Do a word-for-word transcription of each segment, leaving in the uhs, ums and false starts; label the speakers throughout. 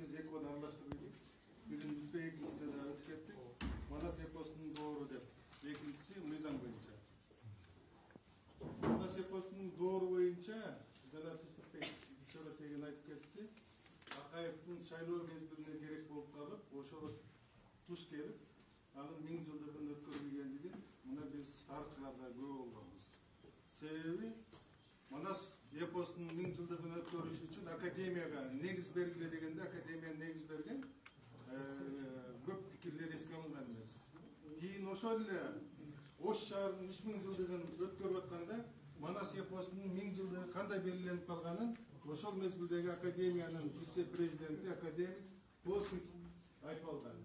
Speaker 1: биз эки гана аралаштырып элек. Бирин бүтпөй, экинчисине да өтүп кеттик. Манас эпосунун доору деп. Экинчиси мыйзам боюнча. Манас эпосунун доору боюнча жана Тыстыкбек чора теген айтып кетти. Акаевдин шайлоо мезгилине керек болуп калып, ошого туш келип, анын миң жылдыгын өткөрүлгендигин мына биз тарыхчыларда күбө болгонбуз. Себеби Манас эпосунун миң жылдыгын өткөрүш үчүн академияга негиз бергиле дегенде академия негиз берген көп пикирлер эске алынган эмес. Кийин ошол эле Ош шаарынын үч миң жылдыгын өткөрүп атканда Манас эпосунун миң жылдыгы кандай белгиленип калганын ошол мезгилдеги академиянын вице-президенти академик Плосник айтып алган.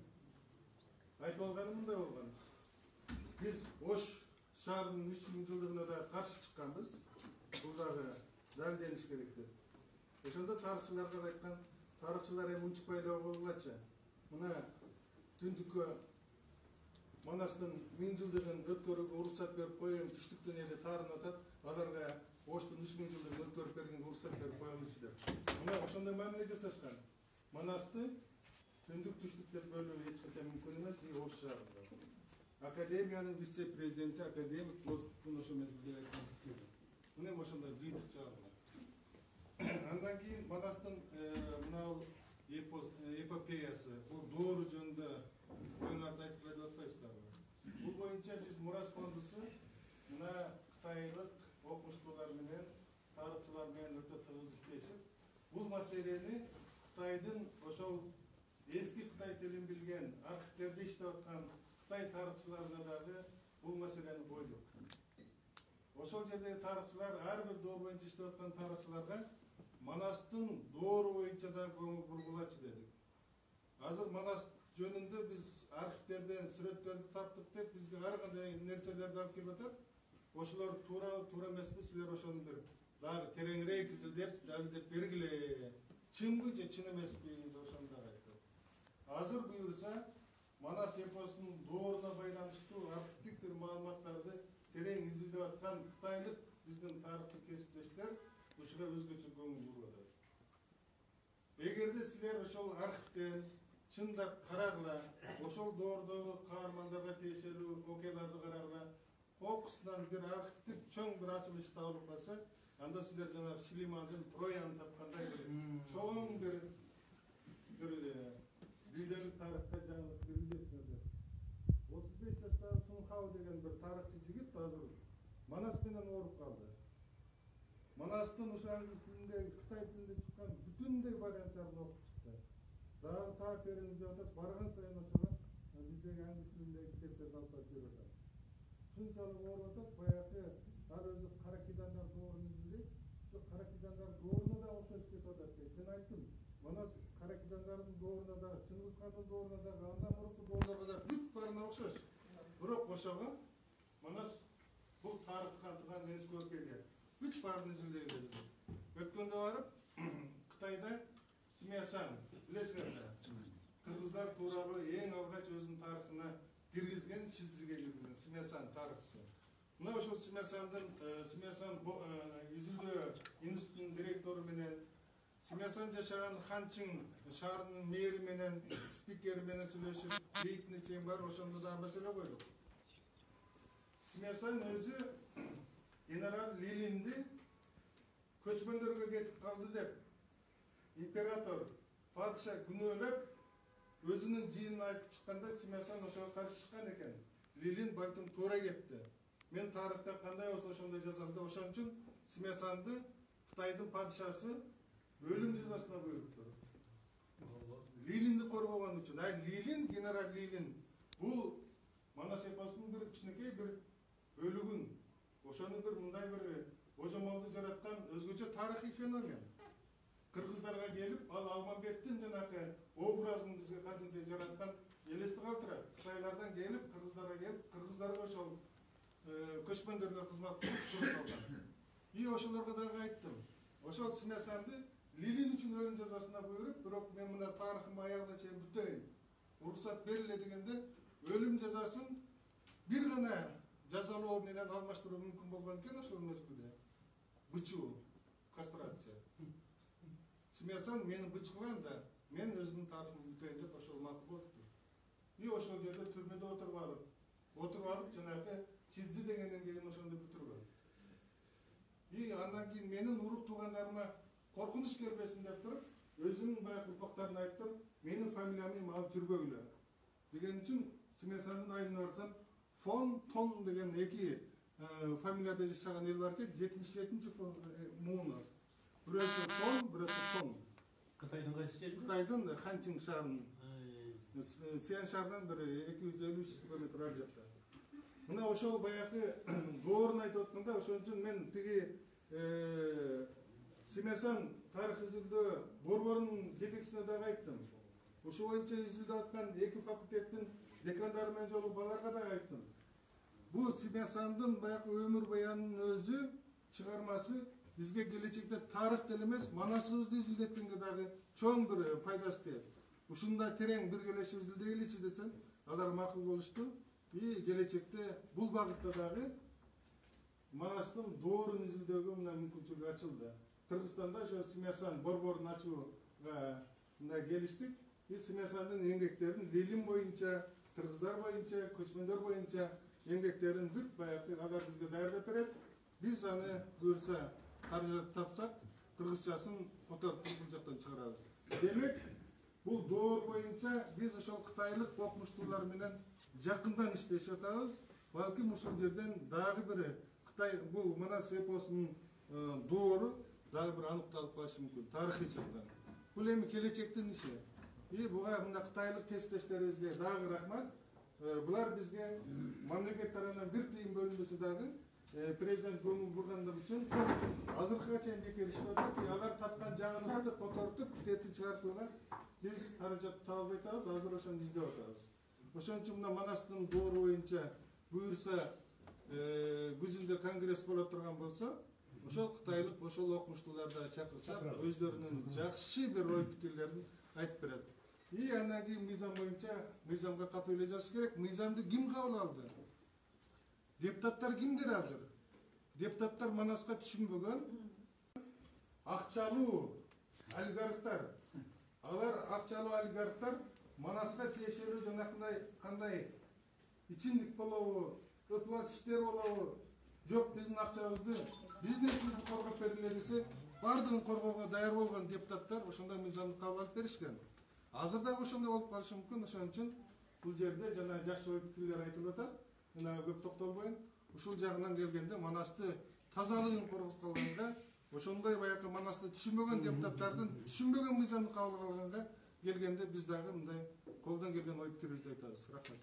Speaker 1: Айтып алганы мындай болгон. Биз Ош шаарынын үч миң жылдыгына да каршы чыкканбыз. Бул дагы далилдениш керек деп. Ошондо тарыхчыларга айткан, тарыхчылар эми унчукпай эле болгулачы. Мына түндүккө Манастын миң жылдыгын өткөрүүгө уруксат берип коюм, түштүктөн эле таарын атат, аларга Оштун үч миң жылдыгын өткөрүп берген уруксат берип коелучу деп. Мына ошондой мамиле жасашкан. Манасты түндүк түштүк деп бөлүү эч качан мүмкүн эмес, и Ош шаарында. Академиянын вице-президенти академик Плосниктин ошол мезгилде айткан пикири. Мына ошондой жыйынтык чыгарылган. Андан кийин Манастын мына эпопеясы, бул доору жөнүндө оюңарды айтып берип атпайсыздарбы? Бул боюнча биз Мурас фондусу мына кытайлык окумуштуулар менен, тарыхчылар менен өтө тыгыз иштешип, бул маселени Кытайдын ошол эски Кытай тилин билген, архивтерде иштеп аткан Кытай тарыхчыларына дагы бул маселени койдук. Ошол жердеги тарыхчылар, ар бир доор боюнча иштеп аткан тарыхчыларга Манастын доору боюнча да көңүл бургулачы дедик. Азыр Манас жөнүндө биз архивтерден сүрөттөрдү таптык деп бизге ар кандай нерселерди алып келип атат. Ошолор туура туура эмеспи, силер ошону бир дагы тереңирээк изилдеп, далилдеп бергиле. Чынбы же чын эмеспи деп ошону дагы айттык. Азыр буюрса Манас эпосунун дооруна байланыштуу архивдик бир маалыматтарды терең изилдеп аткан кытайлык биздин тарыхчы кесиптештер ушуга өзгөчө көңүл буруп атат. Эгерде силер ошол архивден чындап карагыла, ошол доордогу каармандарга тиешелүү окуяларды карагыла, кокусунан бир архивдик чоң бир ачылыш табылып калса, анда силер жана Шлимандын Трояны тапкандай бир чоң бир бир дүйнөлүк тарыхта жаңылык киргизесиңер. отуз беш жаштагы Сунхау деген бир тарыхчы жигит азыр Манас менен ооруп калды. Манастын ошо англис тилинде, Кытай тилинде чыккан бүтүндөй варианттарын окуп чыкты. Дагы таап бериңиз деп атат, барган сайын ошого биздеги англис тилиндеги китептерди алып барып берип атат. Шунчалык ооруп атат, баягы ар өзү Каракидандар доорун изилдейт. Ошо Каракидандар дооруна да окшош кетип атат дейт. Мен айттым, Манас Каракидандардын дооруна да, Чыңгыз хандын дооруна да, андан мурунку доорлорго да бүт баарына окшош. Бирок ошого Манас бул тарыхка антыган эски окуя. Бүт баарын изилдей берди. Өткөндө барып Кытайда Смясан, билесиңерби? Кыргыздар тууралуу эң алгач өзүнүн тарыхына киргизген, Шизиге киргизген Смясан тарыхчысы. Мына ошол Смясандын Смясан изилдөө институтунун директору менен, Смясан жашаган Ханчың шаарынын мэри менен, спикери менен сүйлөшүп, бейтине чейин бар, ошондо да маселе койдук. Смясан өзү генерал Лилинди көчмөндөргө кетип калды деп император падыша күнөөлөп өзүнүн жыйынын айтып чыкканда Смясан ошого каршы чыккан экен. Лилин балким туура кетти. Мен тарыхта кандай болсо ошондой жазам деп, ошон үчүн Смясанды Кытайдын падышасы өлүм жазасына буйруптур. Лилинди коргогон үчүн. А Лилин, генерал Лилин бул Манас эпосунун бир кичинекей бир бөлүгүн, ошону бир мындай бир божомолду жараткан өзгөчө тарыхый феномен. Кыргыздарга келип, ал Алмамбеттин жанакы образын бизге кадимдей жараткан элести калтырат. Кытайлардан келип, кыргыздарга келип, кыргыздарга ошол көчмөндөргө кызмат кылып калган. И ошолорго дагы айттым. Ошол Смясанды Лилин үчүн өлүм жазасына буйруп, бирок мен мына тарыхымды аягына чейин бүтөйүн. Уруксат бериле дегенде өлүм жазасын бир гана жазалоо менен алмаштыруу мүмкүн болгон экен ошол мезгилде. Бычуу, кастрация. Смясан мени бычкыган да, мен өзүмдүн тарыхымды бүтөйүн деп ошол макул болупту. И ошол жерде түрмөдө отуруп алып, отуруп алып жанагы Шидзи деген эмгегин ошондо бүтүргөн. И андан кийин менин урук туугандарыма коркунуч келбесин деп туруп, өзүнүн баягы урпактарына айтып туруп, менин фамилиямды алып жүрбөгүлө деген үчүн Симесандын айылына барсам, фон Тон деген эки фамилияда жашаган эл бар экен, жетимиш жетинчи мууну. Бирөөсү Тон, бирөөсү Тон.
Speaker 2: Кытайдын кайсы жери?
Speaker 1: Кытайдын Ханчың шаарынын. Сиан шаарынан бир эки жүз элүү үч километр ар жакта. Мына ошол баягы доорун айтып атканда, ошон үчүн мен тиги Симесан тарых изилдөө борборунун жетекчисине дагы айттым. Ошол боюнча изилдеп аткан эки факультеттин декандары менен жолугуп аларга дагы айттым. Бул Симесандын баягы өмүр баянынын өзү чыгармасы бизге келечекте тарых деле эмес, манасыбызды изилдеткенге дагы чоң бир пайдасы тиет. Ушундай терең биргелешип изилдейличи десем, алар макул болушту. И келечекте бул багытта дагы Манастын доорун изилдөөгө мына мүмкүнчүлүк ачылды. Кыргызстанда ошо Симесан борборун ачууга мына келиштик. И Симесандын эмгектерин Лилим боюнча, кыргыздар боюнча, көчмөндөр боюнча эмгектерин бүт баягы алар бизге даярдап берет. Биз аны буюрса каражат тапсак, кыргызчасын которуп бул жактан чыгарабыз. Демек, бул доор боюнча биз ошол кытайлык окумуштуулар менен жакындан иштешип атабыз. Балким ушул жерден дагы бир Кытай бул Манас эпосунун доору дагы бир аныкталып калышы мүмкүн тарыхый жактан. Бул эми келечектин иши. И буга мында кытайлык тесиптештерибизге дагы рахмат. Булар бизге мамлекет тарабынан бир тыйын бөлүнбөсө дагы президент көңүл бургандар үчүн азыркыга чейин бекер иштеп атат. Алар тапкан жаңылыкты котортуп, китепти чыгартууга биз каражат таап албай атабыз, азыр ошону издеп атабыз. Ошон үчүн мына Манастын доору боюнча буюрса күзүндө конгресс боло турган болсо, ошол кытайлык ошол окумуштууларды чакырсак, өздөрүнүн жакшы бир ой пикирлерин айтып берет. И андан кийин мыйзам боюнча мыйзамга катуу эле жазыш керек. Мыйзамды ким кабыл алды? Депутаттар кимдер азыр? Депутаттар Манаска түшүнбөгөн акчалуу олигархтар. Алар акчалуу олигархтар Манаска тиешелүү жанакындай кандай ичимдик болобу, өкмөт иштер болобу, жок биздин акчабызды, бизнесибизди коргоп бергиле десе, бардыгын коргоого даяр болгон депутаттар ошондой мыйзамды кабыл алып беришкен. Азыр дагы ошондой болуп калышы мүмкүн. Ошон үчүн бул жерде жана жакшы ой пикирлер айтылып атат. Мына көп токтолбойм. Ушул жагынан келгенде Манасты тазалыгын коргоп калганга, ошондой баягы Манасты түшүнбөгөн депутаттардын түшүнбөгөн мыйзамды кабыл алганга келгенде биз дагы мындай колдон келген ой пикирибизди айтабыз. Рахмат.